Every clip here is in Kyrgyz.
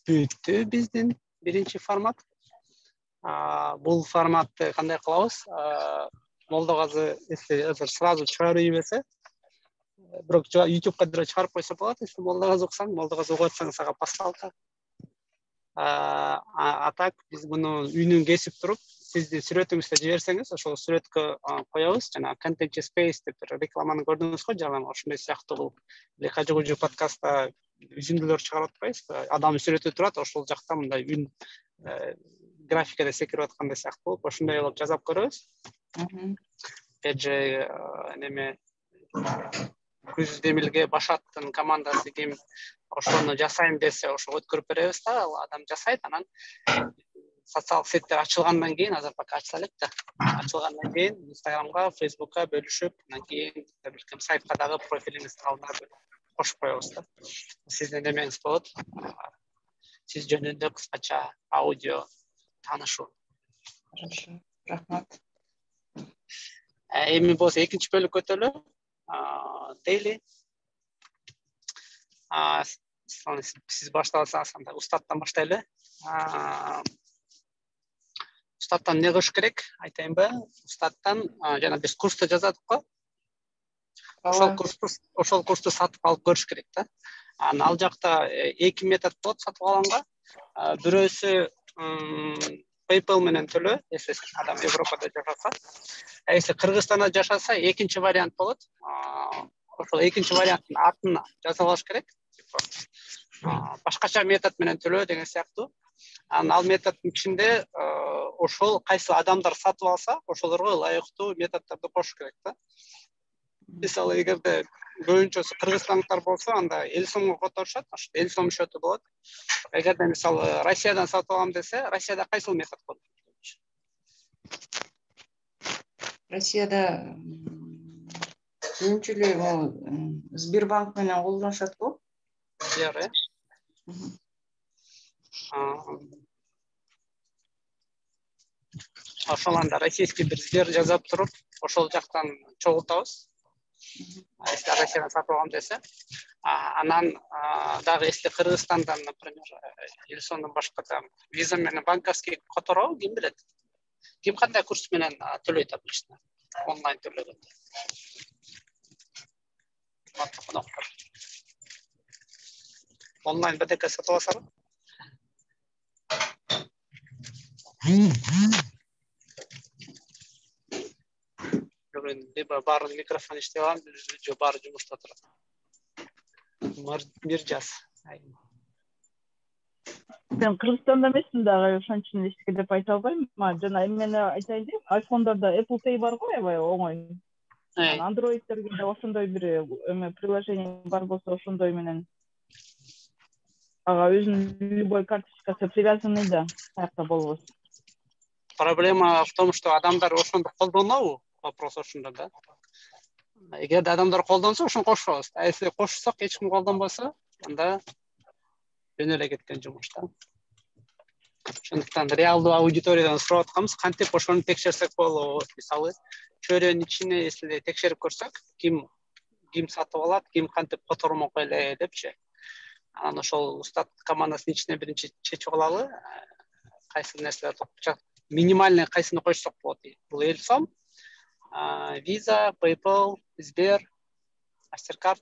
Бүттү биздин биринчи формат. Бул форматты кандай кылабыз? Молдогазы если сразу чыгарып ийбесе, бирок YouTubeга деле чыгарып койсо болот. Если Молдогазы уксаң, Молдогазы угуп атсаң, сага пасалка. А так биз муну үйүнөн кесип туруп, сиздин сүрөтүңүздү жиберсеңиз, ошол сүрөткө коебуз. Жана Content Space деп рекламаны көрдүңүз го, жана ошондой сыяктуу бул Кажы подкастта үзүндүлөр чыгарып атпайбыз. Адамдын сүрөтү турат, ошол жакта мындай үн графикада секирип аткандай сыяктуу болуп, ошондой кылып жасап көрөбүз. Же неме Күз Демилге Башаттын командасы ким ошону жасайм десе, ошого өткөрүп беребиз да, ал адам жасайт. Анан социалдык сеттер ачылгандан кийин, азыр пока ачыла элек да, ачылгандан кийин Instagramга, Facebookка бөлүшүп, андан кийин билбейм сайтка дагы профилиңиздин алдына кошуп коебуз да. Сиздин немеңиз болот. Сиз жөнүндө кыскача аудио таанышуу. Хорошо. Рахмат. Эми болсо экинчи бөлүккө өтөлү. Daily. Сиз баштасаңыз, анда устаттан баштайлы. Устаттан эмне кылыш керек? Айтайынбы? Устаттан жана биз курсту жазадык го. Ошол курсту сатып алып көрүш керек да. Ал жакта эки метод болот сатып алганга. Бирөөсү PayPal менен төлөө, если адам Европада жашаса. Если Кыргызстанда жашаса, экинчи вариант болот. Ошол экинчи варианттын атын жазып алыш керек. Башкача метод менен төлөө деген сыяктуу. Ал методдун ичинде ошол кайсы адамдар сатып алса, ошолорго ылайыктуу методдорду кошуш керек да. Мисалы, эгерде көбүнчөсү кыргызстандыктар болсо, анда эл сомго которушат, ошо эл сом счету болот. Эгерде мисалы Россиядан сатып алам десе, Россияда кайсыл метод болот? Россияда көбүнчө эле Сбербанк менен колдонушат го. Сбер, ошол анда российский бир Сбер жазап туруп, ошол жактан чогултабыз. Если Россиядан сатып алам десе, анан дагы если Кыргызстандан, например, эл сомдон башка виза менен банковский которобу, ким билет? Ким кандай курс менен төлөйт обычно? Онлайн төлөгөндө. Онлайн БДК сатып алсаңыз. Либо баарын микрофон иштеп алам, же баары жумушта турат. Миржас. Мен Кыргызстанда эмесмин дагы, ошон үчүн эчтеке деп айта албайм. Жана эмнени айтайын дейм, айфондордо Apple Pay бар го, аябай оңой. Androidтерге да ошондой бир приложение бар болсо, ошондой менен ага өзүнүн любой карточкасы привязанный да, каякта болбосун. Проблема в том, что адамдар ошондо колдонобу? Вопрос ошондо да. Эгерде адамдар колдонсо, ошону кошпойбуз. Если кошсок, эч ким колдонбосо, анда жөн эле кеткен жумуш да. Ошондуктан реалдуу аудиториядан сурап атканбыз, кантип ошону текшерсек болобу? Мисалы, чөйрөнүн ичине если текшерип көрсөк, ким сатып алат, ким кантип котормок эле депчи. Анан ошол устат командасынын ичине биринчи чечип алалы, кайсы нерселер минимальный кайсыны койсок болот. Бул эл сом, Visa, PayPal, Сбер, MasterCard.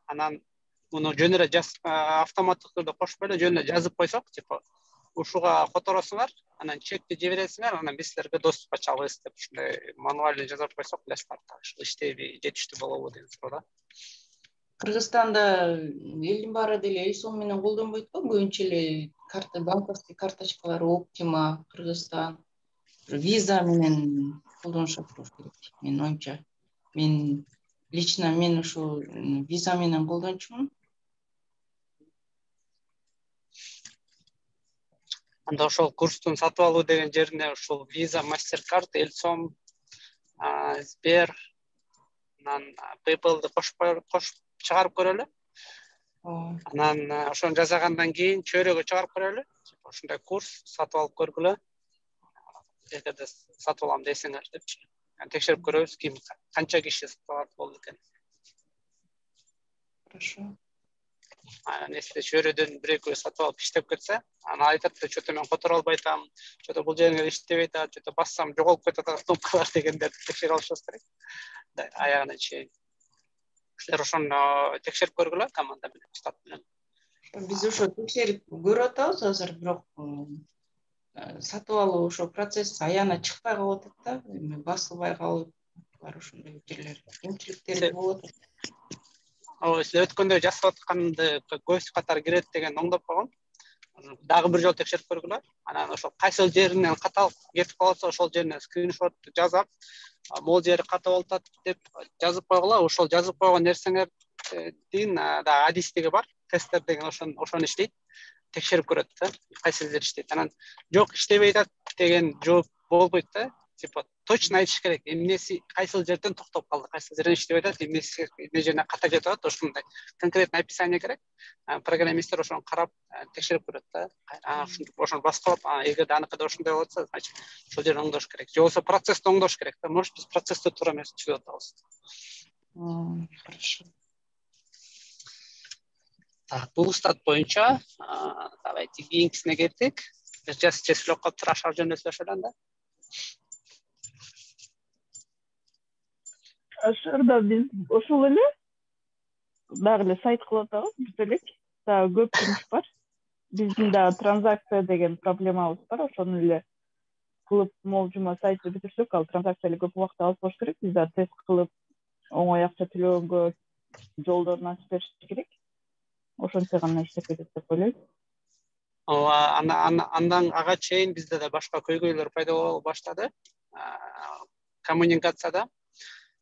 Анан муну жөн эле автоматтык түрдө кошуп эле жөн эле жазып койсок, типа ушуга которосуңар, анан чекти жибересиңер, анан биз силерге доступ ачабыз деп ушундай мануально жазып койсок, билесиңер, иштейби, жетиштүү болобу деген суроо да. Кыргызстанда элдин баары деле эл сом менен колдонбойт го, көбүнчө эле банковский карточкалар Optima, Кыргызстан, Visa менен колдонушат болуш керек. Менин оюмча. Мен ушу Visa менен колдончумун. Анда ошол курстун сатып алуу деген жерине ушул Visa, MasterCard, эл сом, Сбер, анан PayPal'ды кошуп чыгарып көрөлү. Анан ошону жасагандан кийин чөйрөгө чыгарып көрөлү. Ушундай курс сатып алып көргүлө. Эгерде сатып алам десеңер депчи. Текшерип көрөбүз, ким канча киши сатып алат болду экен. Хорошо. несте чөйрөдөн бир-экөө сатып алып иштеп кетсе, аны айтат да, что-то мен которо албай атам, что-то бул жериңер иштебей атат, что-то бассам жоголуп кетип атат кноопкалар дегендерди текшере алышыбыз керек. Аягына чейин. Силер ошону текшерип көргүлө команда менен, штат менен. Биз ошо текшерип көрүп атабыз азыр, бирок сатып алуу ошо процесс аягына чыкпай калып атат да, басылбай калып, ошондой жерлер, кемчиликтери болуп атат. Силер өткөндө жасап атканды көз катары кирет деген оңдоп койгом. Дагы бир жолу текшерип көргүлө. Анан ошол кайсы жеринен каталык кетип калса, ошол жерине скриншот жасап, могул жери ката болуп атат деп жазып койгула. Ошол жазып койгон нерсеңердин дагы адистиги бар. Тестер деген ошону иштейт. Текшерип көрөт да, кайсы жер иштейт. Анан жок иштебей атат деген жооп болбойт да. Типа точно айтыш керек, эмнеси кайсы жерден токтоп калды, кайсы жерден иштебей атат, эмнеси эмне жерине ката кетип атат, ошондой конкретный описание керек. Программисттер ошону карап текшерип көрөт да. Ошону басып алып, эгерде аныкыда ошондой болот болсо, значит, ошол жерди оңдош керек. Же болбосо процессти оңдош керек да. Может, биз процессти туура эмес түзүп атабыз. Хорошо. Так, бул стат боюнча, давайте кийинкисине кеттик. Чечилип калыптыр, ашар жөнөтүлөшө да. Ашарда биз ошол эле дагы эле сайт кылып атабыз, бүтөлүк. Дагы көп жумуш бар. Биздин дагы транзакция деген проблемабыз бар, ошону эле кылып могул жума сайтты бүтүрсөк, ал транзакция эле көп убакыт алып коюш керек. Биз дагы тест кылып, оңой акча төлөгөнгө жолдорун ачып бериш керек. Ошентсе гана иштеп кетет деп ойлойм. Андан ага чейин бизде да башка көйгөйлөр пайда боло баштады. Коммуникацияда.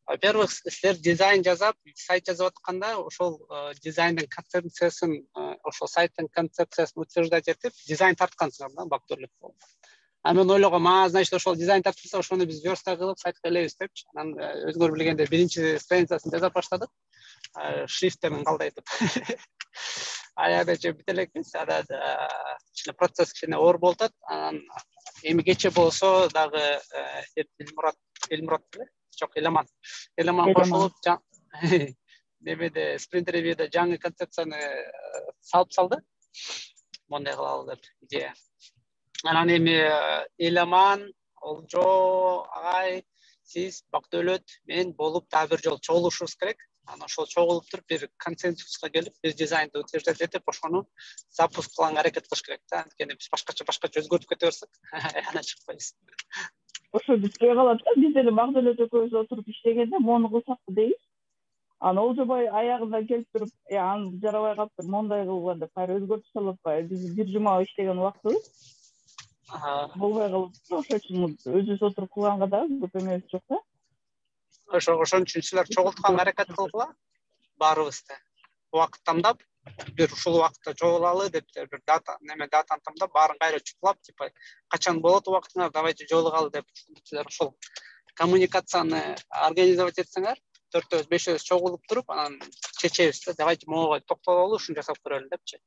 Во-первых, силер дизайн жасап, сайт жазып атканда, ошол дизайндын концепциясын, ошол сайттын концепциясын утверждать этип, дизайн тарткансыңар да, бактылык болуп. Мен ойлогом, значит, ошол дизайн тартылса, ошону биз верстка кылып сайтка илебиз депчи. Анан өзүңөр билгендей, биринчи страницасын жасап баштадык. Шрифтерин калдайтып. Аягача бүт элекпиз. Анан процесс кичине оор болуп атат. Анан эми кече болсо дагы Элмурат жок, Эламан кошулуп, немеде спринт ревьюда жаңы концепцияны салды. Мондай кылалы деп идея. Анан эми Эламан, Олжо, агай, сиз, Бактөөлөт, мен болуп дагы бир жолу чогулушубуз керек. Анан ошол чогулуп туруп бир консенсуска келип, бир дизайнды утверждать этип, ошону запуск кылганга аракет кылыш керек да. Анткени биз башкача өзгөртүп кете берсек, ана чыкпайбыз. Ошо бүтпөй калат да. Биз деле Багдөлөт экөөбүз отуруп иштегенде мону кылсакпы дейбиз. Анан Олжобай аягында келип туруп, аны жарабай калыптыр, мондай кылган деп кайра өзгөртүп салып атпайбы. Биз бир жума иштеген убактыбыз болбой калып, ошол үчүн өзүбүз отуруп кылганга дагы көп эмебиз жок да. Ошон үчүн силер чогултканга аракет кылгыла, баарыбызды. Убакыт тандап, бир ушул убакытта чогулалы деп бир датаны тандап, баарын кайра чуклап, типа качан болот убактыңар, давайте жолугалы деп силер ошол коммуникацияны организовать этсеңер, 4-5 чогулуп туруп, анан чечебиз да, давайте могуга токтололу, ушуну жасап көрөлү депчи.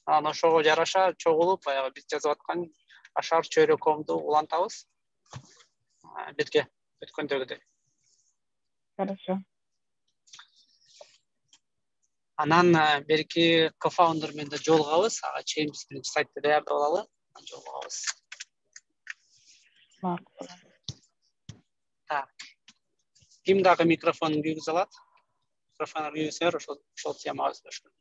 Анан ошого жараша чогулуп, баягы биз жазып аткан ашар чөйрөкөмдү улантабыз. Бирге өткөндөгүдөй. Хорошо. Анан берки кофаундер менен да жолугабыз. Ага чейин биз биринчи сайтты даярдап алалы, анан жолугабыз. Так. Ким дагы микрофонун күйгүзө алат? Микрофонун күйгүзсөңөр, ошол темага сөйлөшкөн.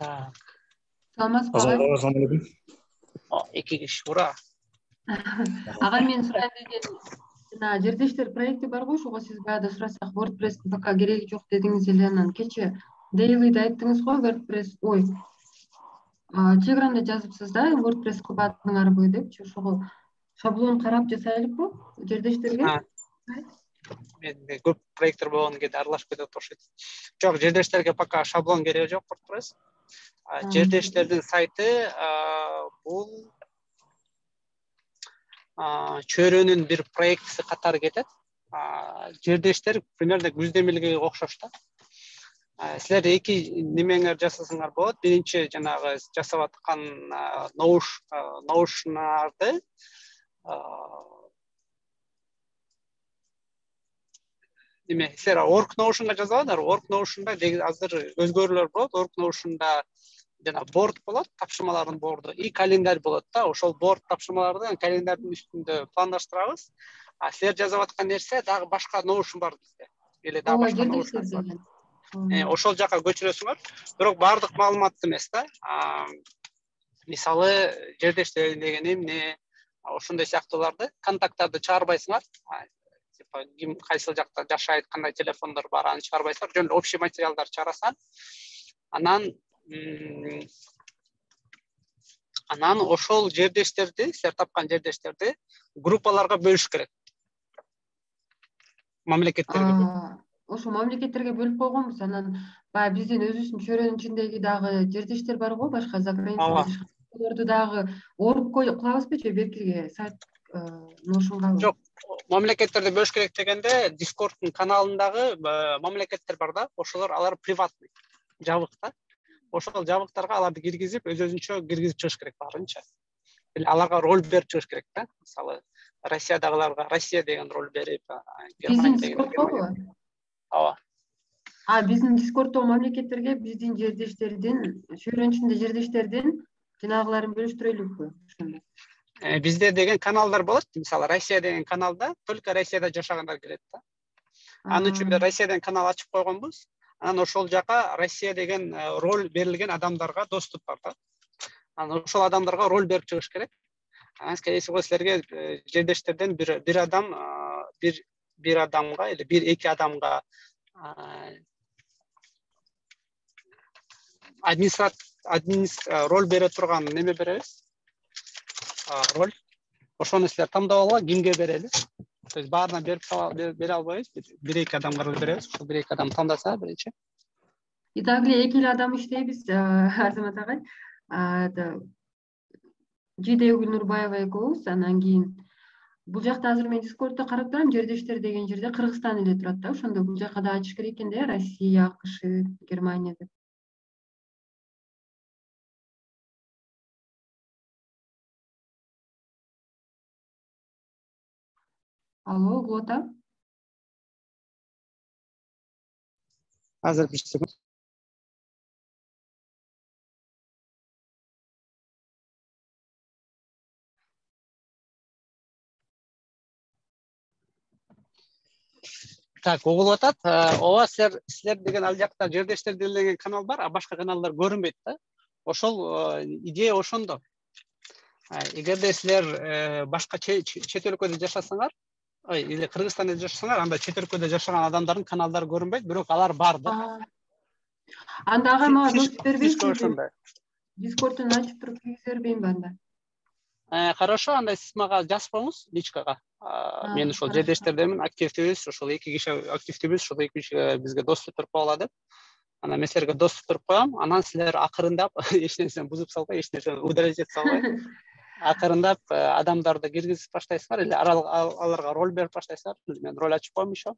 Так. Саламатсызбы агай? Саламатсызбы. Эки киши ура. Агай, мен сурайын деген жана жердештер проекти бар го, ошого сиз баягы сурасак, WordPress пока кереги жок дедиңиз эле. Анан кече Daily'de айттыңыз го, WordPress, Telegram'da жазыпсыз да, WordPress кылбадыңарбы депчи, ошого шаблон карап жасайлыкпы жердештерге? Менде көп проекттер болгон кезде аралашып кетип окшойт. Жок, жердештерге пока шаблон кереги жок WordPress. Жердештердин сайты бул чөйрөнүн бир проектиси катары кетет. жердештер примерно күздемелге окшош да. Силер эки немеңер жасасаңар болот. Биринчи жанагы жасап аткан наушнарды силер Org Notion'га жазалар. Org Notion'да азыр өзгөрүүлөр болот. Org Notion'да жана борд болот, тапшырмалардын борду и календарь болот да. Ошол борд тапшырмаларды календарьдын үстүндө пландаштырабыз. Силер жазып аткан нерсе дагы башка Notion бар бизде. Эле дагы башка Notion бар. Ошол жака көчүрөсүңөр. Бирок бардык маалыматты эмес да. Мисалы, жердештер деген эмне, ошондой сыяктууларды, контакттарды чыгарбайсыңар. Типа ким кайсыл жакта жашайт, кандай телефондор бар, аны чыгарбайсыңар. Жөн эле общий материалдар чыгарасың. Анан ошол жердештерди, силер тапкан жердештерди группаларга бөлүш керек. Мамлекеттерге. Ошо мамлекеттерге бөлүп койгонбуз. Анан баягы биздин өзүбүздүн чөйрөнүн ичиндеги дагы жердештер бар го, башка за границада жашаган. Аларды дагы орг кылабызбы же беркиге сайт Notion'га? Жок, мамлекеттерди бөлүш керек дегенде Discord'дун каналындагы мамлекеттер бар да, ошолор алар приватный, жабык да. Ошол жабыктарга аларды киргизип, өзүнчө киргизип чыгыш керек баарынча. Аларга роль берип чыгыш керек да. Мисалы, Россиядагыларга Россия деген роль берип, Германия деген Германия. Ооба. Биздин Discord'догу мамлекеттерге биздин жердештердин, чөйрөнүн ичинде жердештердин жанагыларын бөлүштүрөлүкпү ошондо? Бизде деген каналдар болот. Мисалы, Россия деген каналда только Россияда жашагандар кирет да. Аны үчүн бир Россиядан канал ачып койгонбуз. Анан ошол жака Россия деген роль берилген адамдарга доступ бар да. Анан ошол адамдарга роль берип чыгыш керек. Анан скорее всего силерге жердештерден бир адамга или бир-эки адамга роль бере турган неме беребиз. Роль. Ошону силер тандап алгыла, кимге берели. То есть баарына бере албайбыз, бир-эки адамга роль беребиз. Ошол бир-эки адам тандаса биринчи. И дагы эле 2 адам иштейбиз, Азамат агай. Жидей Гүлнурбаева экөөбүз. Анан кийин бул жакта азыр мен Discord'да карап турам, жердештер деген жерде Кыргызстан эле турат да. Ошондо бул жака да ачыш керек экен да, Россия, АКШ, Германия деп. Алло, Глота? Азыр бир секунд. Так, угулуп атат. Ооба, силер деген ал жакта жердештер деген канал бар, а башка каналдар көрүнбөйт да. Ошол идея ошондо. Эгерде силер башка чет өлкөдө жашасаңар, или Кыргызстанда жашасаңар, анда чет өлкөдө жашаган адамдардын каналдары көрүнбөйт, бирок алар бар да. Анда ага мага доступ бербейсизби? Discord'ун ачып туруп киргизе бербейинби анда? Хорошо, анда сиз мага жазып коюңуз личкага. Мен ошол жердештердемин, активдүүбүз, ошол 2 киши активдүүбүз, ошол 2 киши бизге доступ туруп койгула деп. Анан мен силерге доступ туруп коем. Анан силер акырындап эч нерсени бузуп салбай, эч нерсени удалять этип салбай, акырындап адамдарды киргизип баштайсыңар или аларга роль берип баштайсыңар. Мен роль ачып коем еще.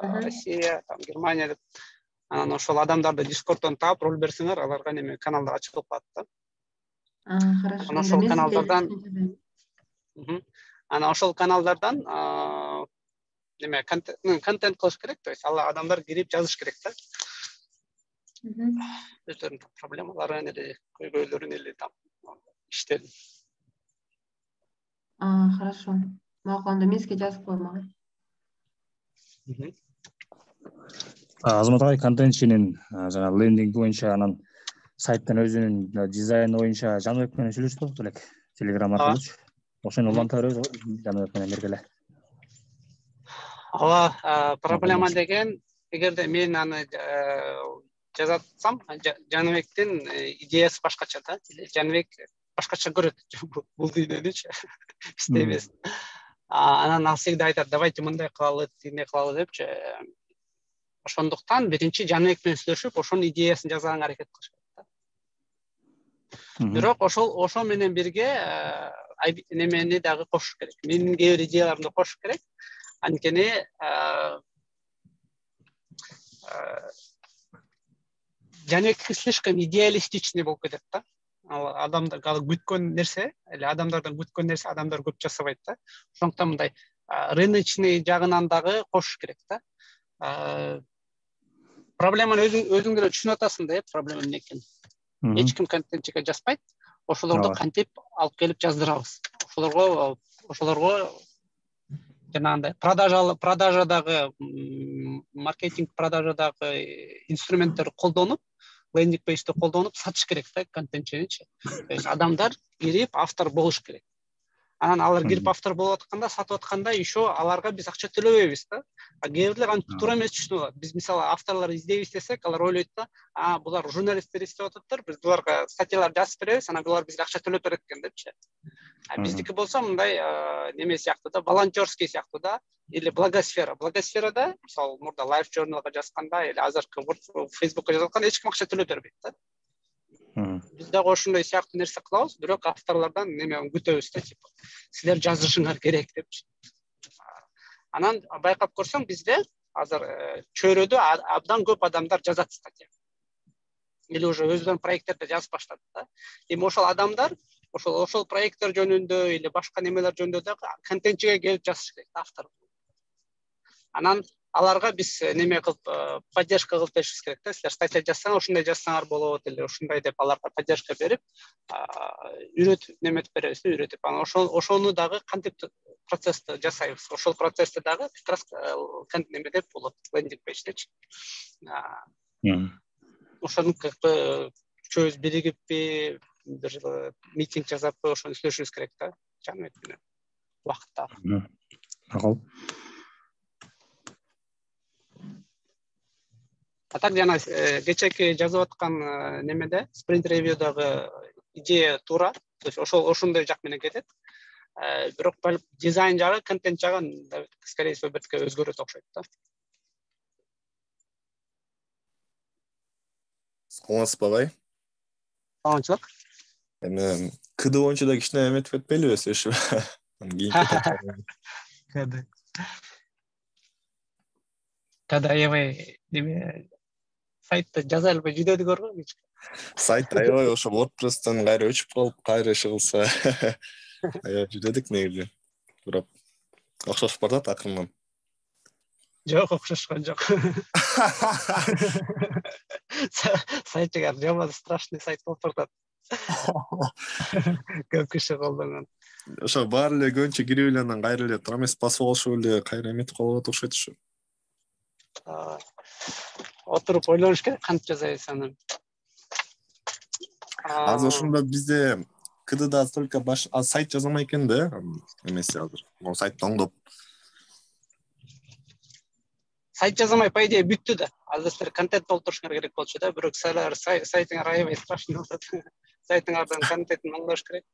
Россия, Германия деп. Анан ошол адамдарды Discord'дон таап роль берсеңер, аларга неме каналдар ачылып калат да. Хорошо. Анан ошол каналдардан неме контент кылыш керек, то есть ал адамдар кирип жазыш керек да. Өздөрүнүн проблемаларын эле, көйгөйлөрүн эле иштеди. Хорошо. Макул, анда мен сизге жазып коем ага. Азамат агай, контентчинин жана лендинг боюнча, анан сайттын өзүнүн дизайны боюнча Жаныбек менен сүйлөшүп болуптур элек, Telegram аркылуучу. Ошону уланта беребиз го, Жаныбек менен биргеле. Ооба, проблема деген, эгерде мен аны жазатсам, Жаныбектин идеясы башкача да. Жаныбек башкача көрөт бул дүйнөнүчү. Иштебес. Анан ал всегда айтат, давайте мындай кылалы, тигиндей кылалы депчи. Ошондуктан биринчи Жаныбек менен сүйлөшүп, ошонун идеясын жазганга аракет кылыш керек да. Бирок ошол менен бирге немени дагы кошуш керек. Менин кээ бир идеяларымды кошуш керек. Анткени Жанекти слишком идеалистичный болуп кетет да. Ал адамдар күткөн нерсе, эле адамдардан күткөн нерсе адамдар көп жасабайт да. Ошондуктан мындай рыночный жагынан дагы кошуш керек да. Проблеманы өзүң деле түшүнүп атасың да, проблема эмне экенин. Эч ким контентчиге жазбайт. Ошолорду кантип алып келип жаздырабыз. Ошолорго жанагындай продажадагы маркетинг продажадагы инструменттерди колдонуп, лендинг пейджди колдонуп сатыш керек да контентчиничи. То есть адамдар кирип автор болуш керек. Анан алар кирип автор болуп атканда, сатып атканда еще аларга биз акча төлөбөйбүз да. Кээ бирлер антип туура эмес түшүнүп алат. Биз мисалы авторлор издейбиз десек, алар ойлойт да, булар журналисттер издеп атыптыр, биз буларга статьялар жазып беребиз, анан булар бизге акча төлөп берет экен депчи. Биздики болсо мындай неме сыяктуу да, волонтерский сыяктуу да, или благосфера. Благосферада, мисалы, мурда Life Journalга жазганда, или азыркы Facebookка жазатканда эч ким акча төлөп бербейт да. Биз дагы ошондой сыяктуу нерсе кылабыз, бирок авторлордон неме күтөбүз да, типа, силер жазышыңар керек депчи. Анан байкап көрсөң, бизде азыр чөйрөдө абдан көп адамдар жазат статья. Или уже өздөрүнүн проекттерди жазып баштады да. Эми ошол адамдар ошол проекттер жөнүндө или башка немелер жөнүндө да контентчиге келип жазыш керек, автор. Анан аларга биз неме кылып, поддержка кылып беришибиз керек да. Силер статья жазсаңар, ушундай жазсаңар болот, или ушундай деп аларга поддержка берип, үйрөтүп неметип беребиз, үйрөтүп. Анан ошону дагы кантип процессти жасайбыз. Ошол процессти дагы как раз неме деп болот, лендинг пейдждечи. Ошону как бы үчөөбүз биригиппи, бир митинг жасаппы, ошону сүйлөшүбүз керек да, Жаныбек менен убакытта. Макул. А так жана кечээки жазып аткан немеде, спринт ревьюдагы идея туура, то есть ошондой жак менен кетет. Бирок дизайн жагы, контент жагы скорее всего бирке өзгөрөт окшойт да. Саламатсызбы агай? Саламатчылык. Эми КД боюнча да кичине эметип кетпейли сөзү? Када аябай неме сайтты жаза албай жүдөдүгөр го. Сайт аябай ошо WordPress'тен кайра өчүп калып, кайра иши кылса аябай жүдөдүк негизи. Бирок окшошуп барат акырынан. Жок, окшошкон жок. Сайтыгар жаман страшный сайт болуп баратат. Көп киши колдонгон. Ошо баары эле көбүнчө кирип эле анан кайра эле туура эмес басып алышып эле кайра эметип калып окшойт ушу. Отуруп ойлонуш керек, кантип жасайбыз аны. Азыр ошондо бизде КДда только сайт жаза алмай экен да, эмеси азыр. Могу сайтты оңдоп. Сайт жаза алмай, по идее, бүттү да. Азыр силер контент толтурушуңар керек болчу да, бирок силер сайтыңар аябай страшный болот. Сайтыңардын контентин оңдош керек.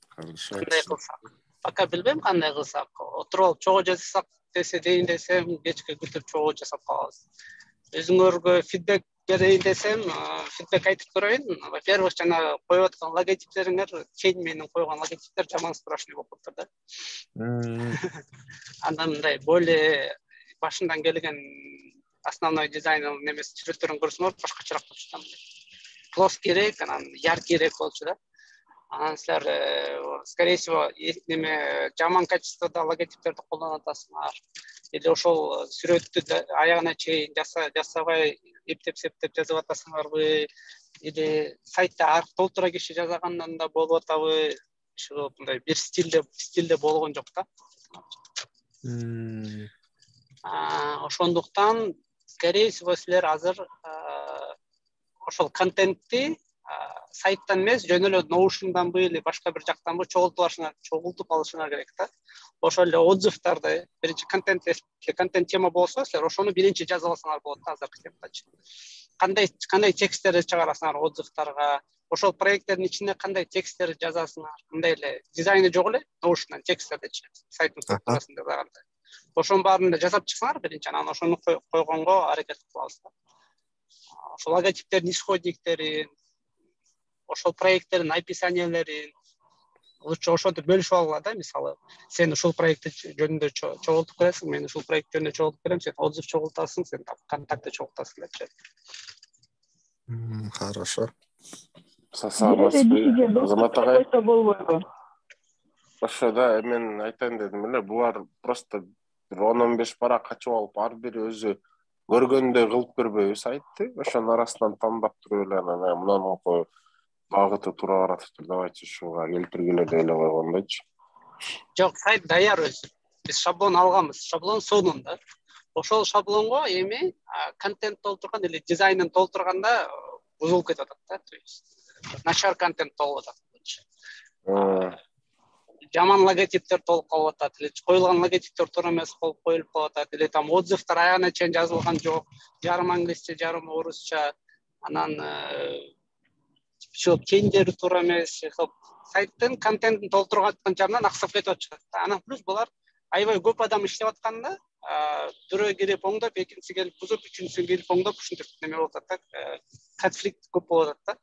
Хорошо. Кандай кылсак? Пока билбейм кандай кылсак. Отуруп алып чогуу жазсак дейин десем, кечке күтүп чогуу жасап калабыз. Өзүңөргө фидбек берейин десем, фидбек айтып көрөйүн. Во-первых, жана коюп аткан логотиптериңер, чейин менин койгон логотиптер жаман страшный болуп калыптыр да. Андан мындай более башынан келген основной дизайн немес сүрөттөрүн көрсөңөр башкачараак болчу да. Плоскийрээк, анан яркийрээк болчу да. Анан силер скорее всего неме жаман качествода логотиптерди колдонуп атасыңар. Или ошол сүрөттү аягына чейин жасабай эптеп-септеп жазып атасыңарбы, или сайтта арк толтура киши жазагандан да болуп атабы, ошо мындай бир стилде болгон жок да. Ошондуктан скорее всего силер азыр ошол контентти сайттан эмес, жөн эле Notion'данбы или башка бир жактанбы чогултуп алышыңар керек да. Ошол эле отзывдарды, биринчи контент тема болсо, силер ошону биринчи жазып алсаңар болот да азыркы темпачы. Кандай тексттерди чыгарасыңар отзывдарга, ошол проекттердин ичинде кандай тексттерди жазасыңар, мындай эле дизайны жок эле Notion'дан тексттердичи, сайттын структурасында дагы. Ошонун баарын жасап чыксаңар биринчи, анан ошону койгонго аракет кылабыз да. Ошол логотиптердин исходниктерин, ошол проекттердин описаниялерин, лучше ошентип бөлүшүп алгыла да, мисалы сен ушул проект жөнүндө чогултуп бересиң, мен ушул проект жөнүндө чогултуп берем, сен отзыв чогултасың, сен контактты чогултасың депчи. Хорошо. Азамат агай болбойбу? Ошо да мен айтайын дедим эле, булар просто 10-15 бара качып алып, ар бири өзү көргөндөй кылып көрбөйбү сайтты. Ошонун арасынан тандап туруп эле анан мунун багыты туура баратыптыр, давайте ушуга келтиргиле деп эле койгондойчу. Жок, сайт даяр өзү. Биз шаблон алганбыз. Шаблон сонунда. Ошол шаблонго эми контент толтурган или дизайнын толтурганда бузулуп кетип атат да, то есть начар контент болуп атат. Жаман логотиптер толуп калып атат, или коюлган логотиптер туура эмес болуп коюлуп калып атат, или там отзывдар аягына чейин жазылган жок, жарым англисче, жарым орусча, анан кендери туура эмес, сайттын контентин толтуруп аткан жагынан аксап кетип атышат. Анан плюс булар аябай көп адам иштеп атканда, бирөө кирип оңдоп, экинчиси келип бузуп, үчүнчүсү келип оңдоп, ушинтип неме болуп атат да, конфликт көп болуп атат да.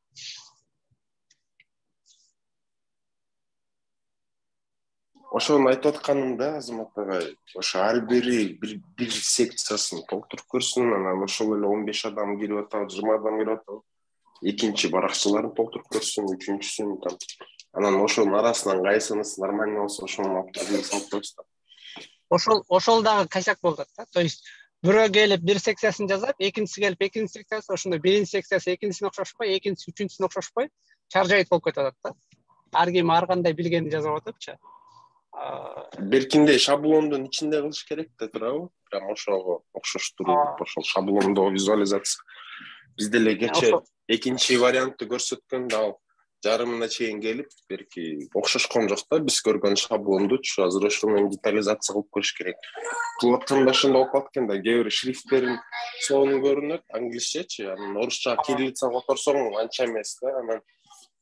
Ошону айтып атканымда, Азамат агай, ошо ар бири бир секциясын толтуруп көрсүн, анан ошол эле 15 адам кирип атат, 20 адам кирип атат. Экинчи баракчаларын толтуруп көрсүн, үчүнчүсүн там. Анан ошонун арасынан кайсынысы нормально болсо, ошону алып келип салып коесуз да. Ошол дагы косяк болуп атат да. То есть бирөө келип бир секциясын жазат, экинчиси келип экинчи секциясы, ошондой биринчи секциясы экинчисине окшошпой, экинчиси үчүнчүсүнө окшошпой, чаржайт болуп кетип атат да. Ар ким ар кандай билгенин жазып атыпчы. Беркинде шаблондун ичинде кылыш керек да турабы? Прям ошого окшоштуруп, ошол шаблондо визуализация. Биз деле кече экинчи вариантты көрсөткөндө ал жарымына чейин келип, берки окшошкон жок да, биз көргөн шаблондучу. Азыр ошону менен детализация кылып көрүш керек. Кылып атканда ошондой болуп калат экен да, кээ бир шрифттерин сонун көрүнөт, англисчечи, анан орусча кириллица которсоң анча эмес да, анан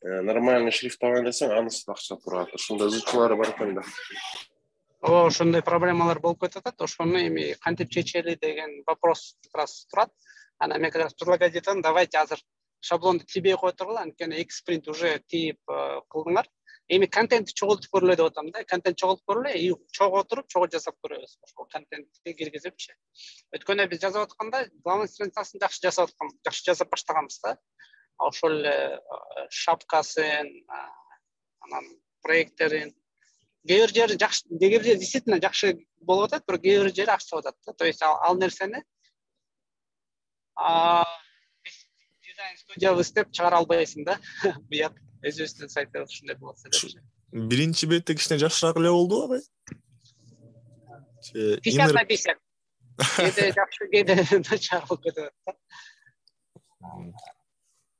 нормальный шрифт алган десең, анысы да акча турат. Ошондой зычуулары бар экен да. Ошондой проблемалар болуп кетип атат. Ошону эми кантип чечели деген вопрос как раз турат. Анан мен как раз предлагать этем, давайте азыр шаблонду тийбей кое тургула, анткени экспринт уже тийип кылдыңар. Эми контентти чогултуп көрөлү деп атам да. Контент чогултуп көрөлү, и чогуу отуруп, чогуу жасап көрөбүз. Ошол контентти киргизипчи. Өткөндө биз жазып атканда главный страницасын жакшы жасап баштаганбыз да. Ошол эле шапкасын, анан проекттерин кээ бир жери жакшы, кээ бир жери действительно жакшы болуп атат, бирок кээ бир жери акча атат да. То есть ал нерсени дизайн студиябыз деп чыгара албайсың да. Буяк өзүбүздүн сайтта ушундай болот эле. Биринчи бетте кичине жакшыраак эле болду абай? 50 на 50. Кээде жакшы, кээде начар болуп кетет да.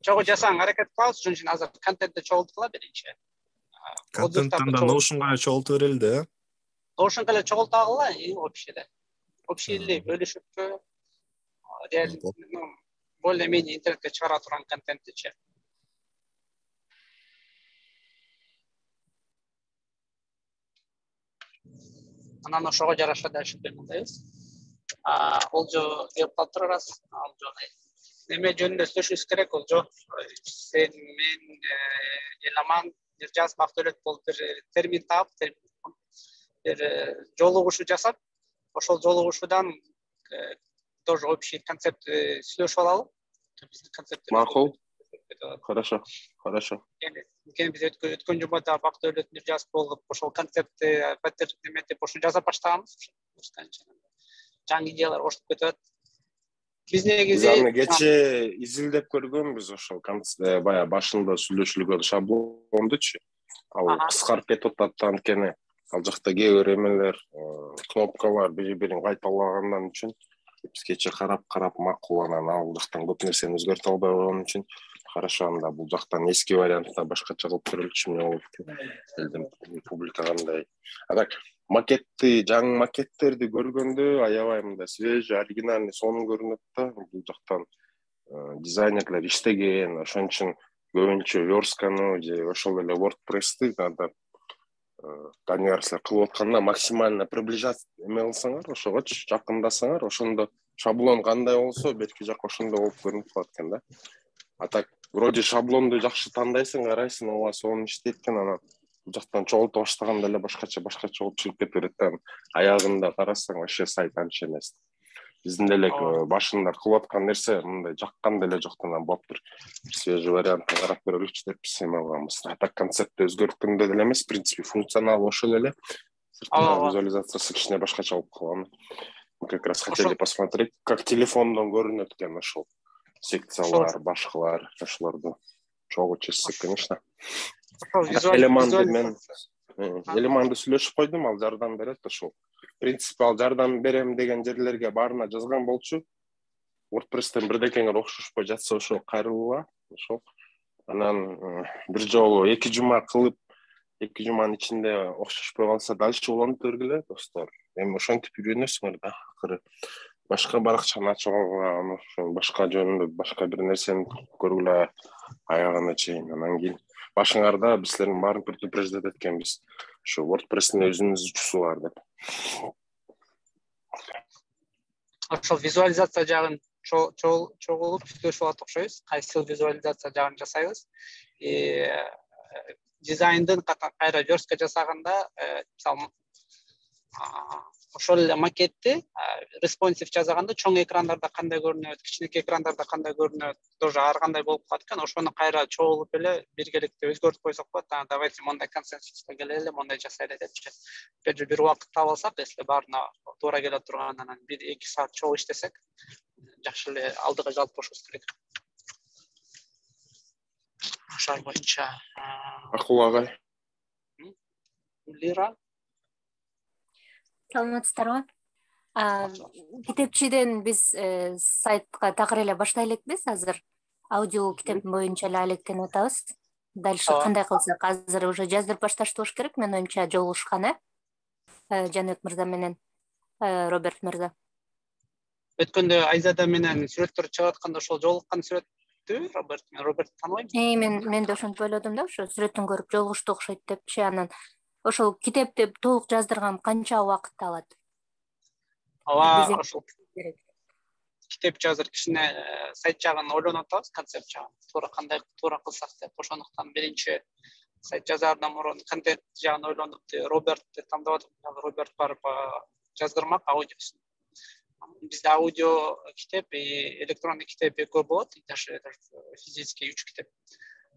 Чогуу жасаң аракет кылабыз, ошон үчүн азыр контентти чогултула биринчи. Контенттен да Notion'га чогултуп берели да. Notion'га эле чогултагыла, общий эле. Общий эле бөлүшүпкө, реально более-менее интернетке чыгара турган контенттичи. Анан ошого жараша да ушинтип мындайбыз. Олжо кеп калыптыр раз, Олжо неме жөнүндө сүйлөшүбүз керек, Олжо. Сен мен Эламан бир жаз Бактөлөт болуп бир термин таап, бир жолугушуу жасап, ошол жолугушуудан тоже общий концепт сүйлөшүп алалы. Биздин концепт. Макул. Хорошо. Анткени биз өткөн жумада Бактөлөт бир жаз болуп, ошол концептти патер неметип, ошо жаза баштаганбыз. Жаңы идеялар кошулуп кетет. Биз негизи аны кече изилдеп көргөнбүз, ошол баягы башында сүйлөшүлгөн шаблондучу. Ал кыскарып кетип атат, анткени ал жакта кээ бир эмелер, кнопкалар бири-бирин кайталагандан үчүн биз кече карап макул, анан ал жактан көп нерсени өзгөртө албай койгон үчүн хорошо, анда бул жактан эски вариантта башкача кылып көрөлүчү эмне болот элдин публика кандай. Так, макетти, жаңы макеттерди көргөндө аябай мындай свежий, оригинальный, сонун көрүнөт да. Бул жактан дизайнерлер иштеген, ошон үчүн көбүнчө верстканы же ошол эле WordPress-ти Данияр силер кылып атканда максимально приближать эме кылсаңар, ошогочу жакындасаңар, ошондо шаблон кандай болсо, бетки жак ошондой болуп көрүнүп калат экен да. А так, вроде шаблонду жакшы тандайсың, карайсың, ооба сонун иштейт экен, анан бул жактан чогултуп баштаганда эле башкача болуп чыгып кете берет да. Аягында карасаң вообще сайт анча эмес. Биздин деле башында кылып аткан нерсе мындай жаккан деле жок, анан болуптур. Свежий вариант карап көрөлүчү деппиз эми алганбыз. А так концепти өзгөрткөн деле эмес, в принципе функционал ошол эле. Визуализациясы кичине башкача болуп калган. Мы как раз хотели посмотреть, как телефондон көрүнөт экен ошол секциялар, башкалар, ошолорду чогуу чечсек, конечно. Элеманды сүйлөшүп койдум, ал жардам берет ошол. В принципе, ал жардам берем деген жерлерге баарына жазган болчу. WordPress-тен бирдекеңер окшошпой жатса ошол кайрылууга, ошол. Анан бир жолу 2 жума кылып, 2 жуманын ичинде окшошпой калса, дальше уланып бергиле, достор. Эми ошентип үйрөнөсүңөр да, акыры. Башка баракчаны ачууга, ошол башка жөнүндө башка бир нерсени көргүлө аягына чейин. Анан кийин башыңарда биз силердин баарын предупреждать эткенбиз. Ошо WordPress-тин өзүнүн жусу бар деп. Ошол визуализация жагын чогулуп сүйлөшүп алат окшойбуз. Кайсы визуализация жагын жасайбыз. Дизайндын кайра жөрткө жасаганда, мисалы, ошол эле макетти респонсив жасаганда чоң экрандарда кандай көрүнөт, кичинекей экрандарда кандай көрүнөт, тоже ар кандай болуп калат экен. Ошону кайра чогулуп эле биргеликте өзгөртүп койсок болот. Давайте мондай консенсуска келели, мондай жасайлы депчи. Бир убакыт таап алсак, если баарына туура келе турган, анан 1-2 саат чогуу иштесек, жакшы эле алдыга жалп бошубуз керек. Ошол боюнча Акул агай. Лира. Саламатсыздарбы? Китепчиден биз сайтка такыр эле баштай элекпиз азыр. Аудио китеп боюнча эле алектенип атабыз. Дальше кандай кылсак? Азыр уже жаздырып башташты болуш керек, мен оюмча жолугушкан, Жаныбек мырза менен Роберт мырза. Өткөндө Айзада менен сүрөттөр чыгып атканда ошол жолуккан сүрөттү Роберт тааныбайм. Мен да ошентип ойлодум да, ошо сүрөттөн көрүп жолугушту окшойт депчи. Анан ошол китепти толук жаздырган канча убакыт алат? Ошол китеп жазыр кичине сайт жагын ойлонуп атабыз, концепт жагын. Туура кылсак деп. Ошондуктан биринчи сайт жазаардан мурун контент жагын ойлонуп, Робертти тандап атып, Роберт барып жаздырмак аудиосун. Бизде аудио китеп, электрондук китеп экөө болот, даже физический 3 китеп.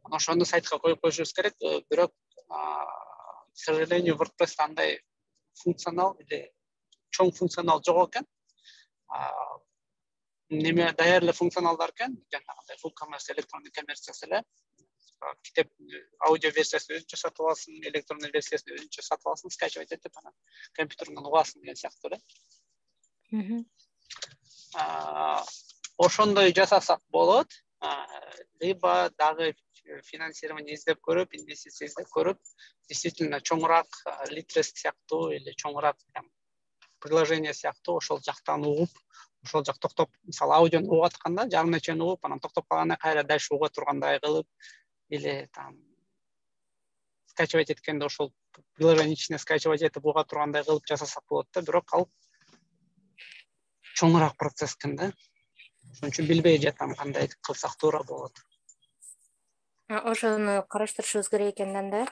Ошону сайтка коюп коюшубуз керек, бирок к сожалению, WordPress андай функционал или чоң функционал жок экен. Неме даяр эле функционалдар экен, жанагындай full commerce, электрондук коммерциясы эле. Китеп аудио версиясын өзүнчө сатып аласың, электрондук версиясын өзүнчө сатып аласың, скачивать этип анан компьютериңден угасың деген сыяктуу эле. Ошондой жасасак болот, либо дагы финансирование издеп көрүп, инвестиция издеп көрүп, действительно чоңураак литрес сыяктуу или чоңураак приложение сыяктуу ошол жактан угуп, ошол жак токтоп, мисалы аудиону угуп атканда жарымына чейин угуп, анан токтоп калганда кайра дальше уга тургандай кылып, или там скачивать эткенде ошол приложение ичине скачивать этип уга тургандай кылып жасасак болот да, бирок ал чоңураак процесс экен да. Ошон үчүн билбей жатам кандай кылсак туура болот. Ошону караштырышыбыз керек экен да.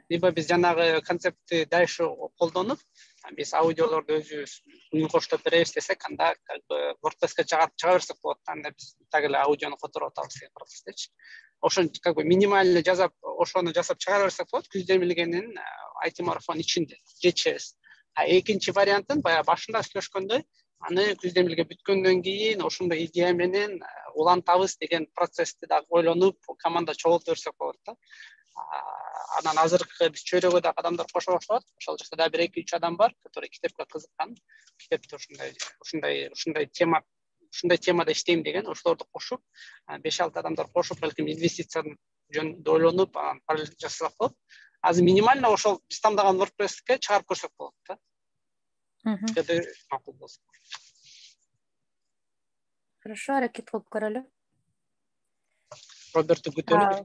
Либо биз жанагы концептти дальше колдонуп, биз аудиолорду өзүбүз үн коштоп беребиз десек, анда как бы WordPress-ке чыга берсек болот, анда биз так эле аудиону которуп атабыз деген процесстечи. Ошону как бы минимально жасап, ошону жасап чыгара берсек болот, күз демилгенин IT марафон ичинде жетишебиз. Экинчи вариантын баягы башында сүйлөшкөндөй, аны күз демилге бүткөндөн кийин ошондой идея менен улантабыз деген процессти да ойлонуп, команда чогултуп берсек болот да. Анан азыркы биз чөйрөгө да адамдар кошо баштап атат. Ошол жакта да 1-2-3 адам бар, которые китепке кызыккан. Китепте ушундай темада иштейм деген, ошолорду кошуп, 5-6 адамдар кошуп, балким инвестицияны жөнүндө ойлонуп, параллель жасасак болот. Азыр минимально ошол биз тандаган WordPress-ке чыгарып көрсөк болот да. Макул болсо. Хорошо, аракет кылып көрөлү. Робертти күтөлү.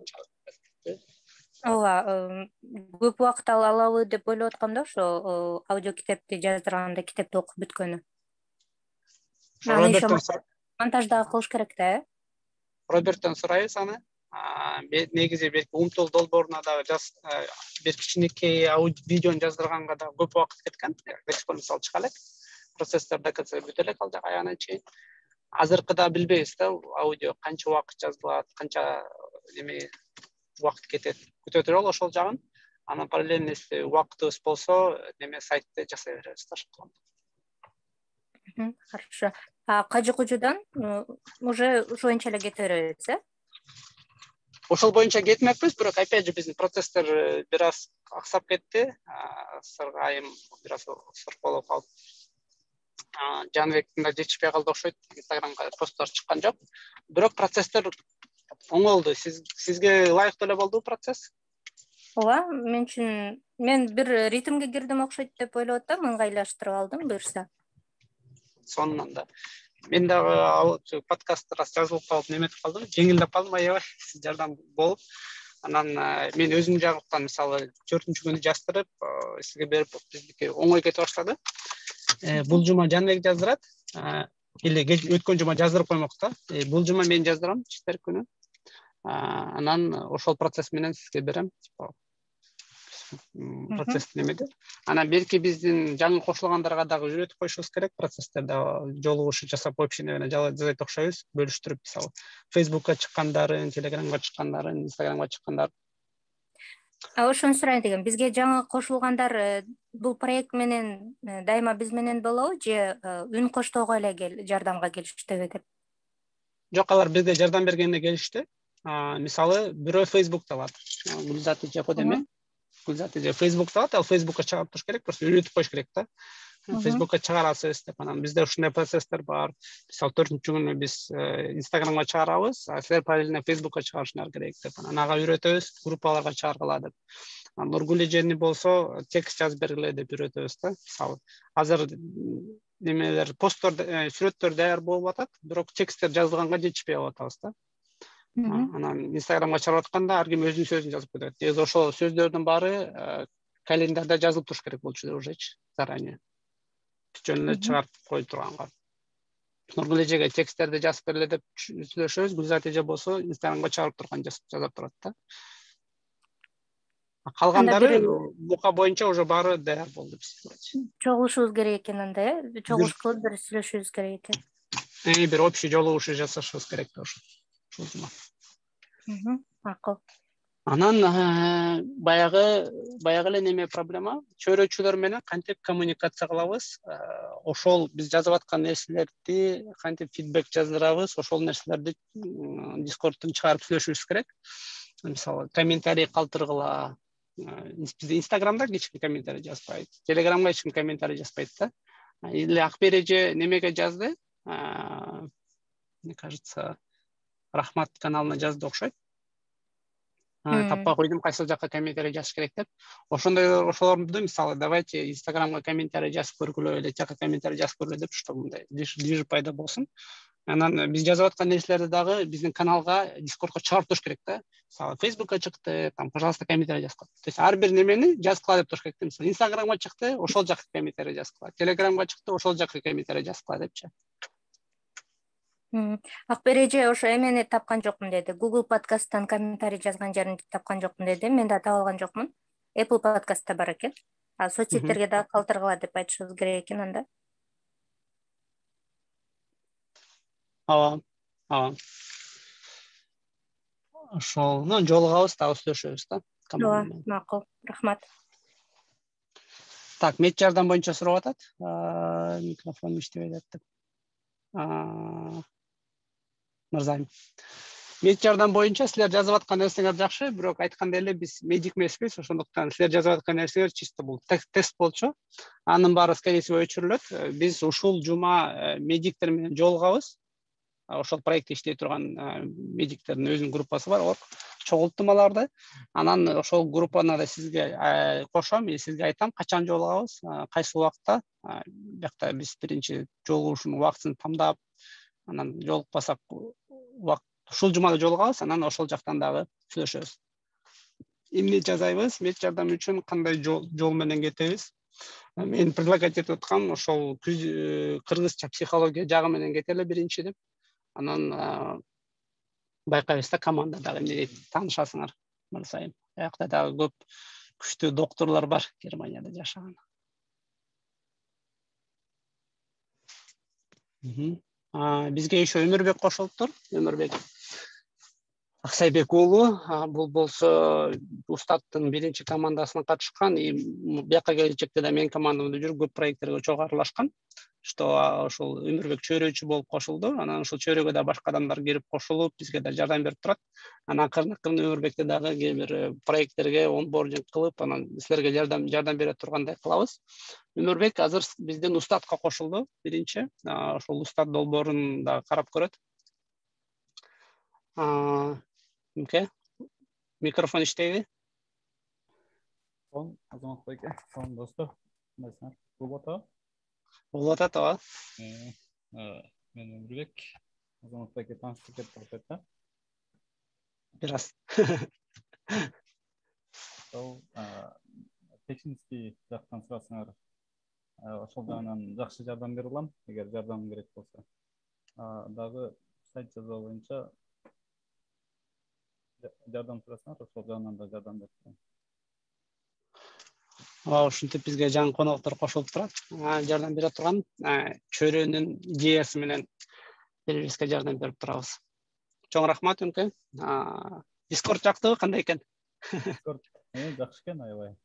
Ооба, көп убакыт алабы деп ойлоп атканда ошо аудио китепти жаздырганда китепти окуп бүткөнү. Монтажда кылыш керек да, Роберттен сурайбыз аны. негизи белки умтул долбооруна дагы бир кичинекей видеону жаздырганга да көп убакыт кеткен. Лексикон мисалы чыга элек, процесстер ДКЦ бүтө элек ал жак аягына чейин. Азыркыда билбейбиз да, аудио канча убакыт жазылат, канча убакыт кетет. Күтө туралы ошол жагын. Анан параллельно убактыбыз болсо, сайтты жасай беребиз да. Хорошо. Кажы кужудан уже ошоюнча эле кете беребиз, Ошол боюнча кетмекпиз, бирок опять же биздин процесстер бир аз аксап кетти. Айым бир аз сырколоп калып, Жаныбектин да жетишпей калды окшойт. Инстаграмга посттор чыккан жок. Бирок процесстер оңолду. Сизге ылайыктуу эле болдубу процесс? Ооба, мен үчүн мен бир ритмге кирдим окшойт деп ойлоп атам, ыңгайлаштырып алдым буюрса. Сонунан да. Мен дагы подкастты раз жазылып калып неметип калдым, жеңилдеп калдым аябай, сиз жардам болуп. Анан мен өзүм жагыптан мисалы 4-күнү жаздырып, сизге берип биздики оңой кете баштады. Бул жума Жанбек жаздырат, или өткөн жума жаздырып коймок да. Бул жума мен жаздырам четверг күнү. Анан ошол процесс менен сизге берем. Процесс немеде. Анан белки биздин жаңы кошулгандарга дагы үйрөтүп коюшубуз керек, процесстерде жолугушуу жасап общение менен жасайт окшойбуз, бөлүштүрүп мисалы Facebookка чыккандарын, Telegramга чыккандарын, Instagramга чыккандарын. Ошону сурайын дегем. Бизге жаңы кошулгандар бул проект менен дайыма биз менен болобу же үн коштоого эле жардамга келиштеби деп? Жок, алар бизге жардам бергенде келишти. Мисалы бирөө Facebook'та бар. Гүлзат Эжепов деме. Гүлзат Эжепов Facebook'та бар, ал Facebook'ка чыгарып туруш керек, просто үйрөтүп коюш керек да. Facebook'ка чыгарасыз деп, анан бизде ушундай процесстер бар. Мисалы 4-күнү биз Instagramга чыгарабыз, силер параллельно Facebook'ка чыгарышыңар керек деп, анан ага үйрөтөбүз, группаларга чыгаргыла деп. Нургүл эжени болсо текст жазып бергиле деп үйрөтөбүз да. Мисалы азыр немелер, посттор, сүрөттөр даяр болуп атат, бирок тексттер жазылганга жетишпей атабыз да. Анан Instagramга чыгарып атканда ар ким өзүнүн сөзүн жазып кетет. Негизи ошол сөздөрдүн баары календарда жазылып туруш керек болчу ужечи заранее. Жөн эле чыгарып коюп турганга. Нургул эжеге тексттерди жазып бергиле деп сүйлөшөбүз. Гүлзат эже болсо Instagramга чыгарып турган жазып турат да. Калгандары бука боюнча уже баары даяр болду биз. Чогулушубуз керек экен анда, чогулуш кылып бир сүйлөшүбүз керек экен. Бир общий жолугушуу жасашыбыз керек да ошо. Макул. Анан баягы эле неме проблема, чөйрөчүлөр менен кантип коммуникация кылабыз, ошол биз жазып аткан нерселерди кантип фидбек жаздырабыз, ошол нерселерди Discord'тун чыгарып сүйлөшүбүз керек. Мисалы комментарий калтыргыла. Бизде Instagram'да эч ким комментарий жазбайт, Telegram'га эч ким комментарий жазбайт да. Или Акбер эже немеге жазды, мне кажется, Рахмат каналына жазды окшойт. Таппай койдум, кайсыл жакка комментарий жазыш керек деп. Ошолорду мисалы давайте Instagram'га комментарий жазып көргүлө, или жака комментарий жазып көргүлө деп, что мындай движ пайда болсун. Анан биз жазып аткан нерселерди дагы биздин каналга, Discord'га чыгарып туруш керек да. Мисалы Facebook'ка чыкты, там, пожалуйста, комментарий жазып кой. То есть ар бир немени жазгыла деп туруш керек да. Мисалы Instagram'га чыкты, ошол жака комментарий жазгыла. Telegram'га чыкты, ошол жака комментарий жазгыла депчи. Акбер эже ошо эмени тапкан жокмун деди. Google подкасттан комментарий жазган жерин тапкан жокмун деди. Мен да таба алган жокмун. Apple подкастта бар экен. Соцсеттерге да калтыргыла деп айтышыбыз керек экен анда. Ооба. Ошол, жолугабыз, дагы сүйлөшөбүз да. Ооба, макул. Рахмат. Так, мет жардам боюнча сурап атат. Микрофон иштебей атат деп. Мырзайым. Мет жардам боюнча силер жазып аткан нерсеңер жакшы, бирок айткандай эле биз медик эмеспиз, ошондуктан силер жазып аткан нерсеңер чисто бул тест болчу. Анын баары скорее всего өчүрүлөт. Биз ушул жума медиктер менен жолугабыз. Ошол проектте иштей турган медиктердин өзүнүн группасы бар, чогулттум аларды. Анан ошол группаны да сизге кошом, сизге айтам качан жолугабыз, кайсы убакта. Биякта биз биринчи жолугушуунун убактысын тамдап, анан жолукпасак ушул жумада жолугабыз, анан ошол жактан дагы сүйлөшөбүз. Эмне жасайбыз, мет жардам үчүн кандай жол менен кетебиз? Мен предлагать этип аткам, ошол кыргызча психология жагы менен кетели биринчи деп. Анан байкайбыз да, команда дагы эмне дейт, таанышасыңар бар сайын. Аякта дагы көп күчтүү докторлор бар Германияда жашаган. Бизге еще Өмүрбек кошулуптур. Өмүрбек Аксайбек уулу, бул болсо Устаттын биринчи командасына катышкан, бияка келечекте да менин командамда жүрүп көп проекттерге чогуу аралашкан. Что ошол Өмүрбек чөйрөчү болуп кошулду. Анан ошол чөйрөгө да башка адамдар кирип кошулуп, бизге да жардам берип турат. Анан акырын Өмүрбекти дагы кээ бир проекттерге онбординг кылып, анан силерге жардам бере тургандай кылабыз. Өмүрбек азыр биздин Устатка кошулду биринчи. Ошол Устат долбоорун да карап көрөт. Микрофон иштейби? Азамат байке, салам достор. Кандайсыңар? Болуп атабы? Болуп атат, ооба. Мен Өмүрбек, Азамат байке таанышып кетип атат да. Бир аз. Сол технический жактан сурасаңар, ошол жагынан жакшы жардам бере алам, эгер жардам керек болсо. Дагы сайт жазуу боюнча жардам сурасаңар, ошол жагынан да жардам берип турам. Ушинтип бизге жаңы коноктор кошулуп турат. Жардам бере турган чөйрөнүн идеясы менен бизге жардам берип турабыз. Чоң рахмат Өмке. Дискорд жактыбы, кандай экен? Дискорд жакшы экен, аябай.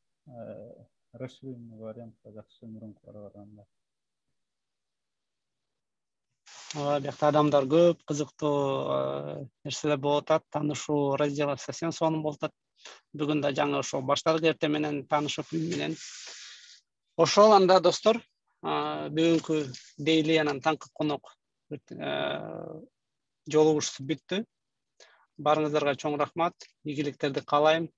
Расширенный вариантта жакшы, мурункуларга караганда. Биякта адамдар көп, кызыктуу нерселер болуп атат, таанышуу разделы совсем сонун болуп атат. Бүгүн да жаңы ошол башталгы эртең менен таанышып менен. Ошол анда достор, бүгүнкү дейли анан таңкы конок жолугушуу бүттү. Барыңыздарга чоң рахмат, ийгиликтерди каалайм.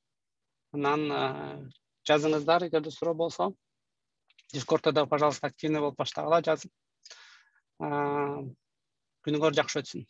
Анан жазыңыздар, эгерде суроо болсо. Дискордто да, пожалуйста, активный болуп баштагыла, жазып. Күнүңөр жакшы өтсүн.